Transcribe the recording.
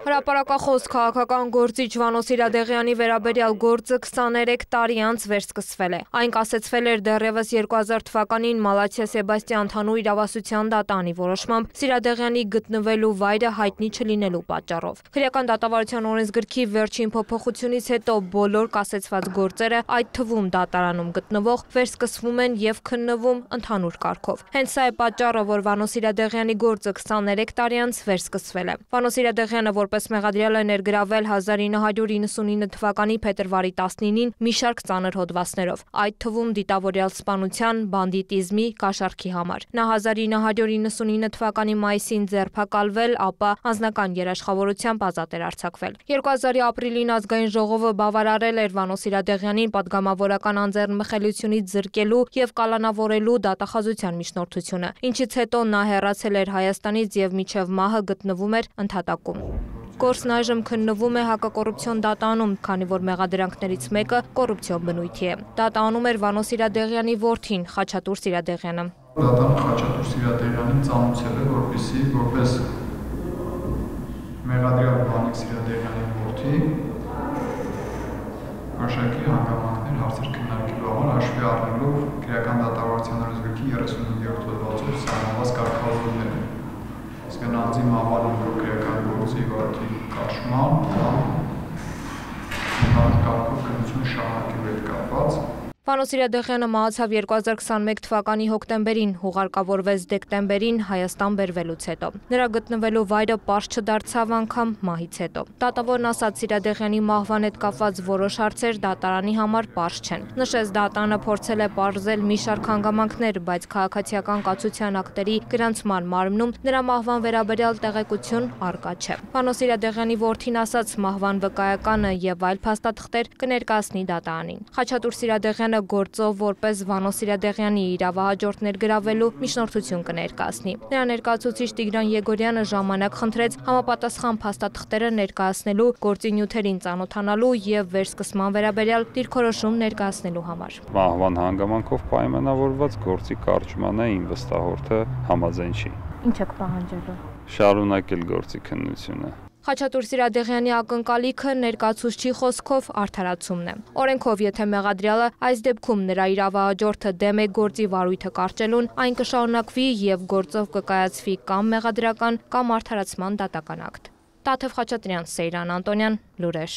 Հրապարակախոս քաղաքական գործիչ Վանո Սիրադեղյանի վերաբերյալ գործը 23 տարի անց վերսկսվել է։ Այն կասեցվել էր դեռևս 2000 թվականին Մալաթիա Սեբաստիան ընդհանուր իրավասության դատանի որոշմամբ Սիրադեղյանի գտնվելու վայրը հայտնի չլինելու պատճառով։ Քրեական դատավարության օրենսգրքի վերջին փոփոխությունից հետո բոլոր կասեցված գործերը, այդ թվում դատարանում գտնվող, վերսկսվում են եւ քննվում ընդհանուր կարգով։ Հենց սա է պատճառը, որ Վանո Սիրադեղյանի գործը 23 տարի անց վերսկսվել է։ Վանո Սիրադեղյանը որպես մեղադրյալ է ներգրավել 1999 թվականի փետրվարի 19-ին մի շարք ծանր հոդվածներով, այդ թվում դիտավորյալ սպանության, բանդիտիզմի, կաշառքի համար։ Նա 1999 թվականի մայիսին ձերբակալվել, ապա անձնական երաշխավորությամբ ազատ էր արձակվել։ 2000-ի ապրիլին ազգային ժողովը բավարարել էր Վանո Սիրադեղյանին պատգամավորական անձեռնմխելիությունից զրկելու եւ կալանավորելու դատախազության միջնորդությունը, ինչից հետո նա հեռացել էր Հայաստանից եւ մինչեւ մահը գտնվում էր ընդհատակում։ Գործն այժմ քննվում է հակակոռուպցիոն դատանում, քանի որ մեղադրանքներից մեկը կոռուպցիոն բնույթի է։ Դատանում էր Վանո Սիրադեղյանի որդին Խաչատուր Սիրադեղյանը։ Դատանը Խաչատուր Սիրադեղյանին ծանուցել է, որպեսզի որպես մեղադրյալ Վանիկ Սիրադեղյանի որդի որոշակի հանգամանքներ հարցեր քննարկելու համար հաշվի առնելով քրեական դատավարության օրենսգրքի 35-րդ հոդվածով սահմանված կարգավորումները։ Իսկն անձի մահվան քրեական գործի վարքի կաշման կամ կարգով քննություն շարունակելու հետ կապված։ Վանո Սիրադեղյանը մահացավ 2021 թվականի հոկտեմբերին, հուղարկավորվեց դեկտեմբերին Հայաստան բերվելուց հետո։ Նրա գտնվելու վայրը պարզ չդարձավ անգամ մահից հետո։ Դատավորն ասաց Սիրադեղյանի մահվան հետ կապված որոշ հարցեր դատարանի համար պարզ չեն։ Նշեց դատանը փորձել է պարզել մի շարք հանգամանքներ, բայց քաղաքացիական կացության ակտերի գրանցման մարմնում նրա մահվան վերաբերյալ տեղեկություն առկա չէ։ Վանո Սիրադեղյանի որդին ասաց մահվան վկայականը եւ այլ փաստաթղթեր կներկայացնի դատարանին։ Խաչատուր Սիրադեղյանը գործով որպես Վանո Սիրադեղյանի իրավահաջորդ ներգրավելու միջնորդություն կներկայացնի։ Նրա ներկայացուցիչ Տիգրան Եգորյանը ժամանակ խնդրեց համապատասխան փաստաթղթերը ներկայացնելու, գործի նյութերին ծանոթանալու եւ վերսկսման վերաբերյալ դիրքորոշում ներկայացնելու համար։ Մահվան հանգամանքով պայմանավորված գործի կարճմանը իմ վստահորդը համաձայն չի։ Ինչ եք պահանջելու։ Շարունակել գործի քննությունը։ Խաչատուր Սիրադեղյանի ակնկալիքը ներկայացուցչի խոսքով արդարացումն է։ Օրենքով, եթե մեղադրյալը այս դեպքում նրա իրավահաջորդը դեմ է գործի վարույթը կարճելուն, այն կշարունակվի եւ գործով կկայացվի կամ մեղադրական կամ արդարացման դատական ակտ։ Տաթև Խաչատրյան, Սեյրան Անտոնյան, լուրեր։